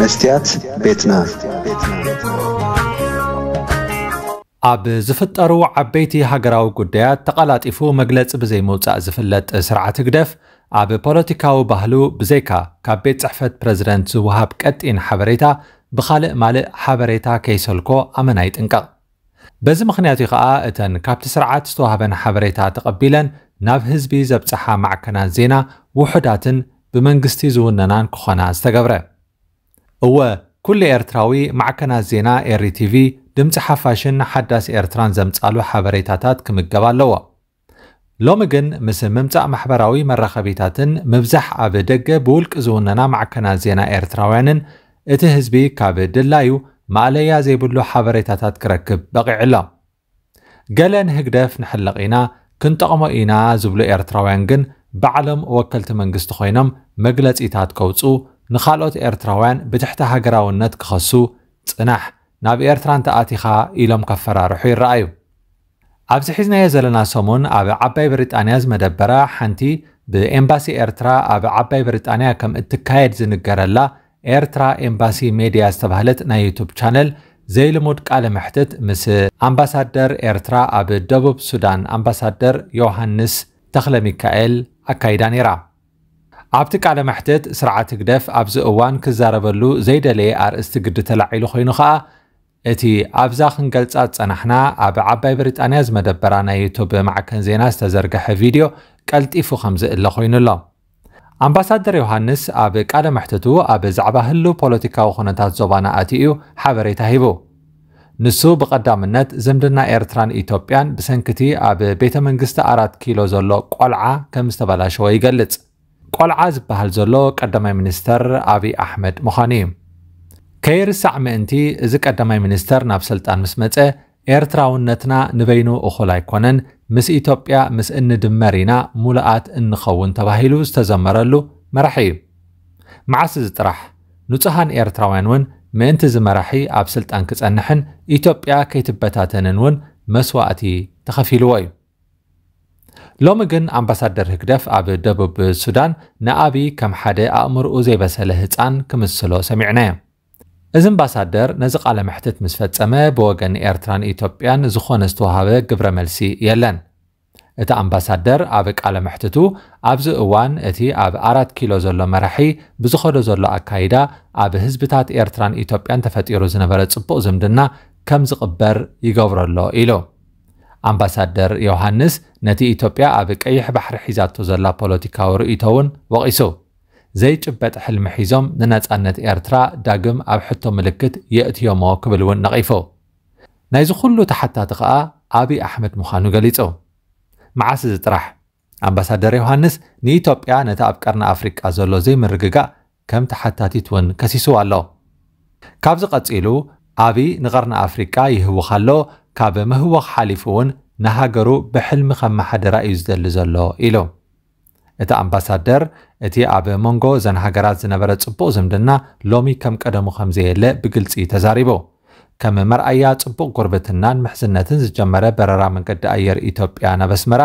መስትያት ቤትና። ኣብ ዝፍጠሩ ዓበይቲ ሃገራዊ ጉዳያት ተቐላጢፉ መግለጺ ብዘይምውጻእ ዝፍለጥ ስርዓት ህግደፍ፣ ኣብ ፖለቲካዊ ባህሉ ብዘይካ ካብ ቤት ጽሕፈት ፕረዚደንት ዝወሃብ ቀጢን ሓበሬታ፣ ብኻልእ ማልእ ሓበሬታ ከይሰልኮ ኣመና ይጥንቀቕ። በዚ ምኽንያት እዩ ከኣ እተን ካብቲ ስርዓት ዝተዋህበን ሓበሬታ ተቐቢለን ናብ ህዝቢ ዘብጽሓ ማዕከናት ዜና ውሑዳትን ብመንግስቲ ዝውነናን ክኾና ዝተገብረ። እወ፣ ኩሉ ኤርትራዊ ማዕከናት ዜና ኤሪ ቲቪ፣ ድምጺ ሓፋሽን ሓዳስ ኤርትራን ዘምጻሉ ሓበሬታታት ክምገብ ኣለዎ። ሎሚ ግን ምስ ምምጻእ ማሕበራዊ መራኸቢታትን ምብዛሕ ኣብ ደገ ብውልቂ ዝውነና ማዕከናት ዜና ኤርትራውያንን እቲ ህዝቢ ካብ ድላዩ ማእለያ ዘይብሉ ሓበሬታታት ክረክብ በቒዑ ኣሎ። ገለ ንህግደፍ ንሕለቕ ኢና፣ ክንጠቕሞ ኢና ዝብሉ ኤርትራውያን ግን ባዕሎም ወከልቲ መንግስቲ ኮይኖም መግለጺታት ከውጽኡ፣ ንኻልኦት ኤርትራውያን ብትሕቲ ሃገራውነት ክኸሱ፣ ጽናሕ፣ ናብ ኤርትራ እንተኣቲኻ ኢሎም ከፈራርሑ ይረኣዩ። ኣብዚ ሒዝናዮ ዘለና ሰሙን ኣብ ዓባይ ብሪጣንያ ዝመደበራ ሓንቲ ብኤምባሲ ኤርትራ ኣብ ዓባይ ብሪጣንያ ከም እትካየድ ዝንገረላ ኤርትራ ኤምባሲ ሜድያ ዝተባህለት ናይ ዩቱብ ቻነል ዘይልሙድ ቃለ መሕትት ምስ ኣምባሳደር ኤርትራ ኣብ ደቡብ ሱዳን ኣምባሳደር ዮሃንስ ተኽለ ሚካኤል ኣካይዳ ነይራ። ኣብቲ ቃለ መሕትት ስርዓት ህግደፍ ኣብዚ እዋን ክዛረበሉ ዘይደለየ ኣርእስቲ ግዲ ተላዒሉ ኮይኑ ከኣ እቲ ኣብዛ ክንገልጻ ዝጸናሕና ኣብ ዓባይ ብሪጣንያ ዝመደበራ ናይ ዩቱብ ማዕከን ዜና ዝተዘርግሐ ቪድዮ ቀልጢፉ ከም ዝእለ ኮይኑ ኣሎ። ኣምባሳደር ዮሃንስ ኣብ ቃለ መሕትቱ ኣብ ዛዕባ ህሉ ፖለቲካዊ ኩነታት ዞባና ኣትዩ ሓበሬታ ሂቡ። ንሱ ብቐዳምነት ዝምድና ኤርትራን ኢትዮጵያን ብሰንክቲ ኣብ ቤተ መንግስቲ ኣራት ኪሎ ዘሎ ቆልዓ ከም ዝተበላሸወ ይገልጽ። ቆልዓ ዝበሃል ዘሎ ቀዳማይ ሚኒስተር ኣብይ ኣሕመድ ምዃኑ እዩ። ከይርሳዕ ምእንቲ እዚ ቀዳማይ ሚኒስተር ናብ ስልጣን ምስ መጸ ኤርትራውነትና ንበይኑ እኹል ኣይኮነን፣ ምስ ኢትዮጵያ ምስ እንድመር ኢና ሙሉኣት እንኸውን ተባሂሉ ዝተዘመረሉ መራሒ እዩ። መዓስ እዚ ጥራሕ፣ ንጹሃን ኤርትራውያን እውን ምእንቲ እዚ መራሒ ኣብ ስልጣን ክጸንሕን ኢትዮጵያ ከይትበታተንን እውን መስዋእቲ ተኸፊልዎ እዩ። ሎሚ ግን ኣምባሳደር ህግደፍ ኣብ ደቡብ ሱዳን ንኣብይ ከም ሓደ ኣእምርኡ ዘይበሰለ ህጻን ክምስሎ ሰሚዕናዮ። እዚ ኣምባሳደር ነዚ ቃለ መሕትት ምስ ፈጸመ ብወገን ኤርትራን ኢትዮጵያን ዝኾነ ዝተዋሃበ ግብረ መልሲ የለን። እቲ ኣምባሳደር ኣብ ቃለ መሕትቱ ኣብዚ እዋን እቲ ኣብ ኣራት ኪሎ ዘሎ መራሒ ብዝኸዶ ዘሎ ኣካይዳ ኣብ ህዝብታት ኤርትራን ኢትዮጵያን ተፈጢሩ ዝነበረ ጽቡቕ ዝምድና ከም ዝቕበር ይገብሮ ኣሎ ኢሉ። ኣምባሳደር ዮሃንስ ነቲ ኢትዮጵያ ኣብ ቀይሕ ባሕሪ ሒዛቶ ዘላ ፖለቲካዊ ርእይቶ እውን ወቒሱ። ዘይጭበጥ ሕልሚ ሒዞም ንነጻነት ኤርትራ ዳግም ኣብ ሕቶ ምልክት የእትዮሞ ክብል እውን ነቒፉ። ናይዚ ኩሉ ተሓታቲ ከኣ ኣብይ ኣሕመድ ምዃኑ ገሊጹ። መዓስ እዚ ጥራሕ ኣምባሳደር ዮሃንስ ንኢትዮጵያ ነቲ ኣብ ቀርኒ ኣፍሪቃ ዘሎ ዘይምርግጋእ ከም ተሓታቲት እውን ከሲስዋ ኣሎ። ካብዚ ቀጺሉ ኣብይ ንቐርኒ ኣፍሪቃ ይህውኽ ኣሎ፣ ካብ ምህወኽ ሓሊፉ እውን ንሃገሩ ብሕልሚ ከመሓድራ እዩ ዝደሊ ዘሎ ኢሉ። እቲ ኣምባሳደር እቲ ኣብ መንጎ እዘን ሃገራት ዝነበረ ጽቡቕ ዝምድና ሎሚ ከም ቀደሙ ከም ዘየለ ብግልጺ ተዛሪቡ። ከም መርኣያ ጽቡቕ ጉርብትናን ምሕዝነትን ዝጀመረ በረራ መንገዲ ኣየር ኢትዮጵያ ናብ ኣስመራ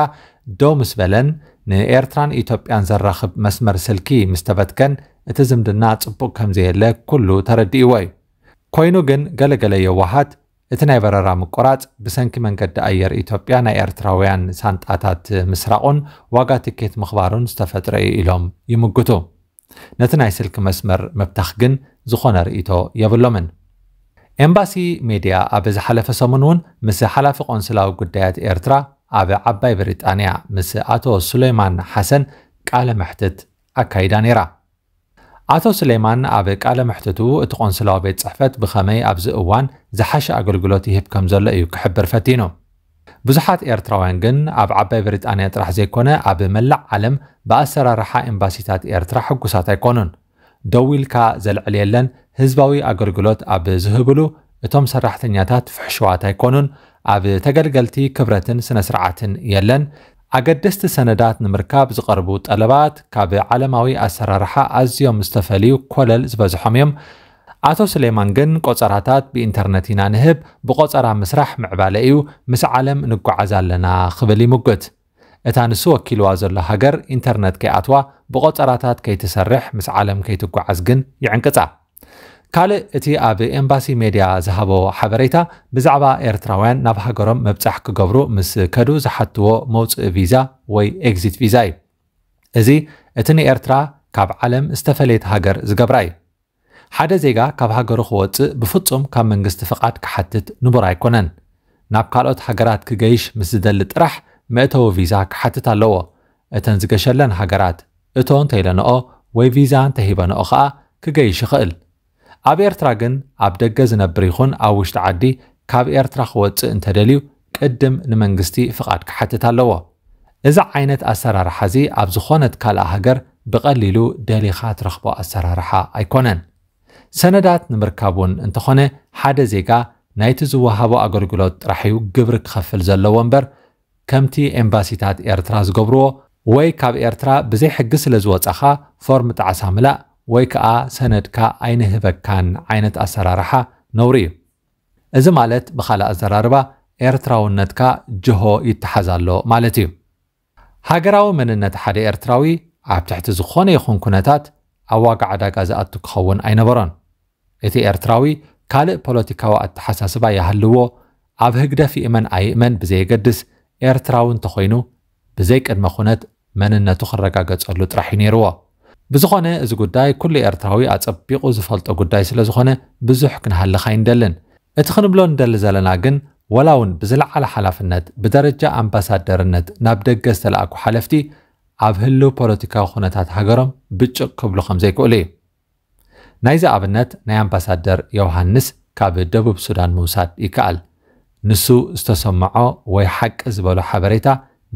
ደው ምስ በለን ንኤርትራን ኢትዮጵያን ዘራኽብ መስመር ስልኪ ምስ ተበትከን እቲ ዝምድና ጽቡቕ ከም ዘየለ ኩሉ ተረዲእዎ እዩ። ኮይኑ ግን ገለገለ የዋሃት እቲ ናይ በረራ ምቁራጽ ብሰንኪ መንገዲ ኣየር ኢትዮጵያ ናይ ኤርትራውያን ሳንጣታት ምስራቑን ዋጋ ትኬት ምኽባሩን ዝተፈጥረ እዩ ኢሎም ይምግቱ። ነቲ ናይ ስልኪ መስመር ምብታኽ ግን ዝኾነ ርእይቶ የብሎምን። ኤምባሲ ሜድያ ኣብ ዝሓለፈ ሰሙን እውን ምስ ሓላፊ ቆንስላዊ ጉዳያት ኤርትራ ኣብ ዓባይ ብሪጣንያ ምስ ኣቶ ሱሌማን ሓሰን ቃለ መሕትት ኣካይዳ ነይራ። ኣቶ ሱሌማን ኣብ ቃለ መሕትቱ እቲ ቆንስላዊ ቤት ጽሕፈት ብኸመይ ኣብዚ እዋን ዝሓሸ ኣገልግሎት ይህብ ከም ዘሎ እዩ ክሕብር ፈቲኑ። ብዙሓት ኤርትራውያን ግን ኣብ ዓባይ ብሪጣንያ ጥራሕ ዘይኮነ ኣብ መላእ ዓለም ብኣሰራርሓ ኤምባሲታት ኤርትራ ሕጉሳት ኣይኮኑን። ደው ኢልካ ዘልዕል የለን፣ ህዝባዊ ኣገልግሎት ኣብ ዝህብሉ እቶም ሰራሕተኛታት ፍሕሹዋት ኣይኮኑን፣ ኣብ ተገልገልቲ ክብረትን ስነ ስርዓትን የለን፣ ኣገደስቲ ሰነዳት ንምርካብ ዝቐርቡ ጠለባት ካብ ዓለማዊ ኣሰራርሓ ኣዝዮም ዝተፈልዩ ኮለል ዝበዝሖም እዮም። ኣቶ ስሌማን ግን ቆጸራታት ብኢንተርነት ኢና ንህብ፣ ብቆጸራ ምስራሕ ምዕባለ እዩ፣ ምስ ዓለም ንጓዓዝ ኣለና ክብል ይምጉት። እታ ንሱ ወኪልዋ ዘሎ ሃገር ኢንተርነት ከይኣትዋ ብቆጸራታት ከይትሰርሕ ምስ ዓለም ከይትጓዓዝ ግን ይዕንቅጻ። ካልእ እቲ ኣብ ኤምባሲ ሜድያ ዝሃቦ ሓበሬታ፣ ብዛዕባ ኤርትራውያን ናብ ሃገሮም ምብጻሕ ክገብሩ ምስ ከዱ ዝሓትዎ መውጽኢ ቪዛ ወይ ኤግዚት ቪዛ እዩ። እዚ እቲ ንኤርትራ ካብ ዓለም ዝተፈለየት ሃገር ዝገብራ እዩ። ሓደ ዜጋ ካብ ሃገሩ ክወጽእ ብፍጹም ካብ መንግስቲ ፍቓድ ክሓትት ንቡር ኣይኮነን። ናብ ካልኦት ሃገራት ክገይሽ ምስ ዝደሊ ጥራሕ መእተዊ ቪዛ ክሓትት ኣለዎ። እተን ዝገሸለን ሃገራት እቶ እንተኢለንኦ ወይ ቪዛ እንተሂበንኦ ከኣ ክገይሽ ይኽእል። ኣብ ኤርትራ ግን ኣብ ደገ ዝነብር ይኹን ኣብ ውሽጢ ዓዲ ካብ ኤርትራ ክወጽእ እንተደልዩ ቅድም ንመንግስቲ ፍቓድ ክሓትት ኣለዎ። እዚ ዓይነት ኣሰራርሓ እዚ ኣብ ዝኾነት ካልእ ሃገር ብቐሊሉ ደሊኻ ትረኽቦ ኣሰራርሓ ኣይኮነን። ሰነዳት ንምርካብ እውን እንተኾነ ሓደ ዜጋ ናይቲ ዝወሃቦ ኣገልግሎት ጥራሕ እዩ ግብሪ ክኸፍል ዘለዎ እምበር ከምቲ ኤምባሲታት ኤርትራ ዝገብርዎ ወይ ካብ ኤርትራ ብዘይ ሕጊ ስለ ዝወጻኻ ፎርም ጣዕሳ ምላእ ወይ ከኣ ሰነድካ ኣይንህበካን ዓይነት ኣሰራርሓ ነውሪ እዩ። እዚ ማለት ብኻልእ ኣዘራርባ ኤርትራውነትካ ጅሆ ይተሓዝ ኣሎ ማለት እዩ። ሃገራዊ መንነት ሓደ ኤርትራዊ ኣብ ትሕቲ ዝኾነ ይኹን ኩነታት ኣብ ዋጋ ዕዳጋ ዝኣቱ ክኸውን ኣይነበሮን። እቲ ኤርትራዊ ካልእ ፖለቲካዊ ኣተሓሳስባ ይሃልዎ፣ ኣብ ህግደፍ ይእመን ኣይእመን ብዘየገድስ ኤርትራዊ እንተኾይኑ ብዘይ ቅድመ ኩነት መንነቱ ክረጋገጸሉ ጥራሕ እዩ ነይርዎ። ብዝኾነ እዚ ጉዳይ ኩሉ ኤርትራዊ ኣጸቢቑ ዝፈልጦ ጉዳይ ስለ ዝኾነ ብዙሕ ክንሃልኽ ኣይንደልን። እቲ ክንብሎ ንደሊ ዘለና ግን ወላ እውን ብዝለዓለ ሓላፍነት ብደረጃ ኣምባሳደርነት ናብ ደገ ዝተለኣኩ ሓለፍቲ ኣብ ህልው ፖለቲካዊ ኩነታት ሃገሮም ብጭቕ ክብሉ ከም ዘይክእሉ እዩ። ናይዚ ኣብነት ናይ ኣምባሳደር ዮሃንስ ካብ ደቡብ ሱዳን ምውሳድ ይከኣል። ንሱ ዝተሰምዖ ወይ ሓቂ ዝበሎ ሓበሬታ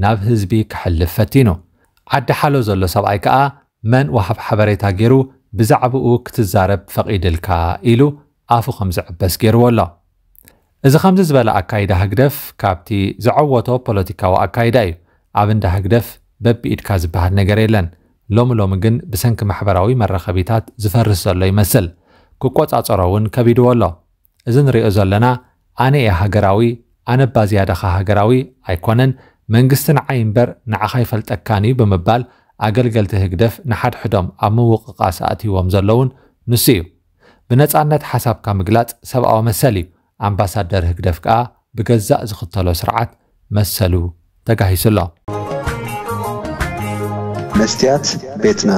ናብ ህዝቢ ክሕልፍ ፈቲኑ። ዓዲ ሓሎ ዘሎ ሰብኣይ ከኣ መን ወሃብ ሓበሬታ ገይሩ ብዛዕባኡ ክትዛረብ ፈቒድልካ ኢሉ ኣፉ ከም ዝዕበስ ገይርዎ ኣሎ። እዚ ከምዚ ዝበለ ኣካይዳ ህግደፍ ካብቲ ዘዐወቶ ፖለቲካዊ ኣካይዳ እዩ። ኣብ እንዳ ህግደፍ በብኢድካ ዝበሃል ነገር የለን። ሎሚ ሎሚ ግን ብሰንኪ ማሕበራዊ መራኸቢታት ዝፈርስ ዘሎ ይመስል። ክቆጻጸሮ እውን ከቢድዎ ኣሎ። እዚ ንሪኦ ዘለና ኣነ እየ ሃገራዊ፣ ኣነ እባ ዝያዳኻ ሃገራዊ ኣይኮነን፣ መንግስቲ ንዓይ እምበር ንዓኻ ኣይፈልጠካን እዩ ብምባል ኣገልገልቲ ህግደፍ ንሓድሕዶም ኣብ ምውቕቓስ ኣእትይዎም ዘለውን ንሱ እዩ። ብነጻነት ሓሳብካ ምግላጽ ሰብኣዊ መሰል እዩ። ኣምባሳደር ህግደፍ ከኣ ብገዛእ ዝኽተሎ ስርዓት መሰሉ ተጋሂሱ ኣሎ። መስትያት ቤትና።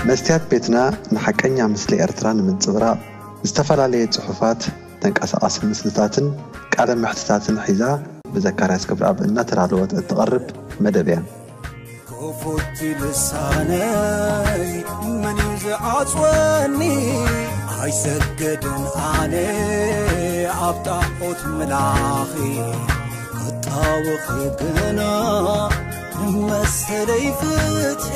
መስትያት ቤትና ንሓቀኛ ምስሊ ኤርትራ ንምንጽብራቕ ዝተፈላለየ ጽሑፋት፣ ተንቀሳቓሲ ምስልታትን ቃለ መሕትታትን ሒዛ ብዘካርያስ ክብረኣብ እናተዳለወት እትቐርብ መደብ እያ። ክፉት ልሳነይ መን እዩ ዝዓጽወኒ? ኣይሰግድን ኣነ ኣብ ጣዖት ምላኺ፣ ክጣወኺ ግና ንመሰለይ ፍትሒ።